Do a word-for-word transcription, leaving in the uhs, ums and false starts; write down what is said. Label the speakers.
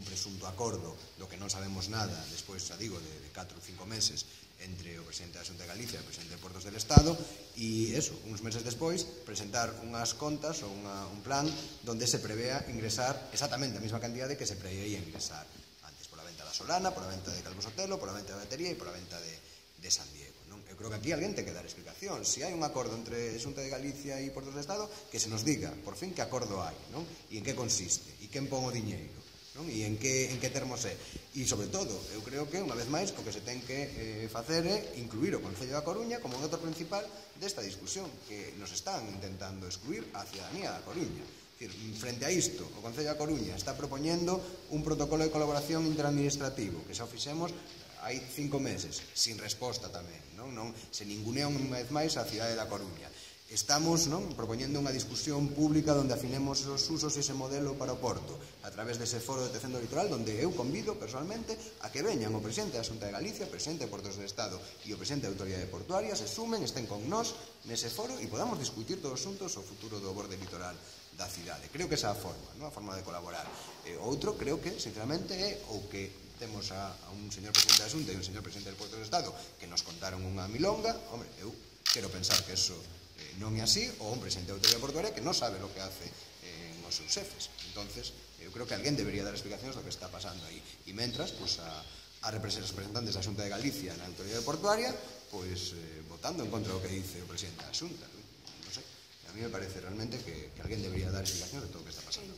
Speaker 1: un presunto acordo do que non sabemos nada, despois, xa digo, de catro ou cinco meses entre o presidente da Xunta de Galicia e o presidente de Portos del Estado, e eso, uns meses despois, presentar unhas contas ou unha, un plan donde se prevea ingresar exactamente a mesma cantidade que se preveía ingresar antes, pola venta da Solana, pola venta de Calvo Sotelo, pola venta da batería e pola venta de, de San Diego. Non? Eu creo que aquí alguén ten que dar explicación. Se hai un acordo entre Xunta de Galicia e Portos del Estado, que se nos diga, por fin, que acordo hai, non? E en que consiste, e quen pon o diñeiro, non? E en que, en que termos é. E, sobre todo, eu creo que, unha vez máis, o que se ten que eh, facer é incluir o Concello da Coruña como un actor principal desta discusión, que nos están intentando excluir a cidadanía da Coruña. Decir, frente a isto, o Concello da Coruña está propoñendo un protocolo de colaboración interadministrativo, que xa o fixemos hai cinco meses, sin resposta tamén, non? Non se ningunea unha vez máis a cidade da Coruña. Estamos, non, propoñendo unha discusión pública onde afinemos os usos e ese modelo para o Porto, a través dese foro de detección do litoral, onde eu convido personalmente a que veñan o presidente da Xunta de Galicia, o presidente de Portos del Estado e o presidente da Autoridade Portuaria, se sumen, estén con nós nese foro e podamos discutir todos xuntos o futuro do borde litoral da cidade. Creo que esa é a forma, non? A forma de colaborar. E outro, creo que, sinceramente, é o que temos a, a un señor presidente da Xunta e un señor presidente del Porto del Estado que nos contaron unha milonga. Hombre, eu quero pensar que eso eh, non é así, ou un presidente da Autoridade Portuaria que non sabe o que hace eh, os seus xefes. Entonces, eu creo que alguén debería dar explicacións do que está pasando aí. E mentras, pues, a, a representantes da Xunta de Galicia na Autoridade Portuaria, pues, eh, votando en contra do que dice o presidente da Xunta. Non sei, a mí me parece realmente que, que alguén debería dar explicacións de todo o que está pasando.